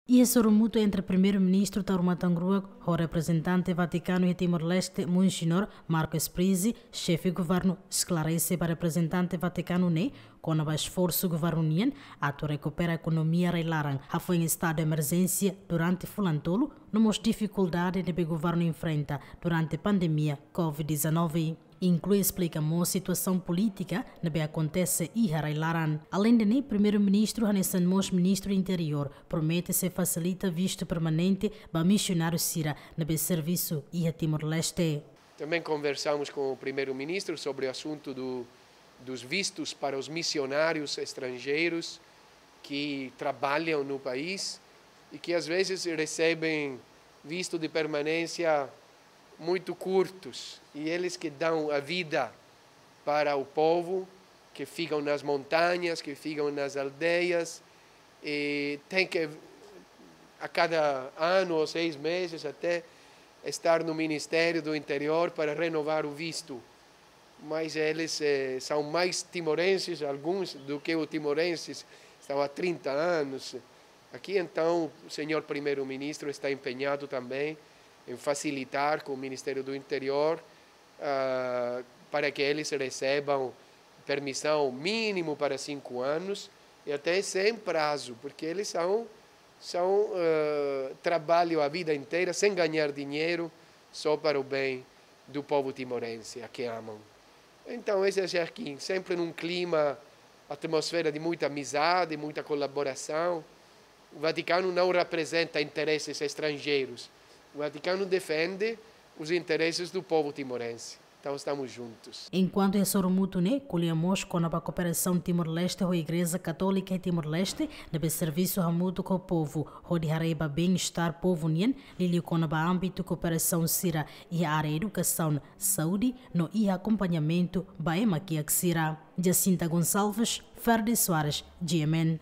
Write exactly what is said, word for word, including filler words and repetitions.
Iha sorumutu entre Primeiru-Ministru Taur Matan Ruak ho reprezentante Vatikanu iha Timor-Leste, Monsinhor Marco Sprizzi, xefe governu esklarese ba reprezentante Vatikanu ne'e kona-ba esforsu governu nian atu rekupera ekonomia rai-laran hafoin estadu emerjénsia durante fulan tolu, no mós difikuldade ne'ebé governu enfrenta durante pandemia covid dezanove. Inklui esplika mós situasaun polítika ne'ebé akontese iha rai-laran. Aleinde ne'e, Primeiru-Ministru hanesan mós Ministru Interiór promete sei fasilita vistu permanente ba misionáriu sira ne'ebé servisu iha Timor-Leste. Também conversamos com o primeiro-ministro sobre o assunto do, dos vistos para os missionários estrangeiros que trabalham no país e que às vezes recebem visto de permanência muito curtos, e eles que dão a vida para o povo, que ficam nas montanhas, que ficam nas aldeias, e tem que, a cada ano ou seis meses até, estar no Ministério do Interior para renovar o visto. Mas eles, eh, são mais timorenses, alguns, do que os timorenses estão há trinta anos aqui. Então, o senhor primeiro-ministro está empenhado também em facilitar com o Ministério do Interior, ah, para que eles recebam permissão mínimo para cinco anos e até sem prazo, porque eles são, são, ah, trabalham a vida inteira sem ganhar dinheiro, só para o bem do povo timorense, a que amam. Então, esse é aqui, sempre num clima, atmosfera de muita amizade, muita colaboração. O Vaticano não representa interesses estrangeiros. O Vaticano defende os interesses do povo timorense. Então, estamos juntos. Enkuantu iha sorumutu ne'e, ko'alia mós kona-ba kooperasaun Timor-Leste ho Igreja Katólika iha Timor-Leste, ne'ebé servisu hamutuk ho povu, hodi haree ba bem-estar povu nian, liuliu kona-ba ámbitu kooperasaun sira iha área edukasaun, saúde, no iha akompañamentu ba ema kiak sira. Jacinta Gonçalves, Ferdi Soares, G M N.